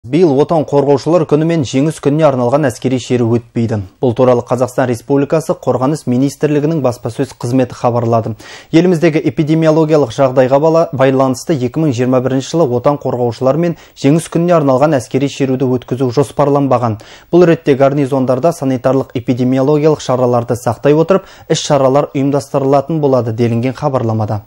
Биыл отан қорғаушылар күні мен жеңіс күніне арналған әскери шеру өтпейді. Бұл туралы Қазақстан Республикасы Қорғаныс министрлігінің баспасөз қызметі хабарлады. Еліміздегі эпидемиологиялық жағдайға байланысты 2021 жылы отан қорғаушылар мен жеңіс күніне арналған әскери шеруді өткізу жоспарланбаған. Бұл ретте гарнизондарда санитарлық эпидемиологиялық шараларды сақтай отырып, іс-шаралар ұйымдастырылатын болады делінген хабарламада.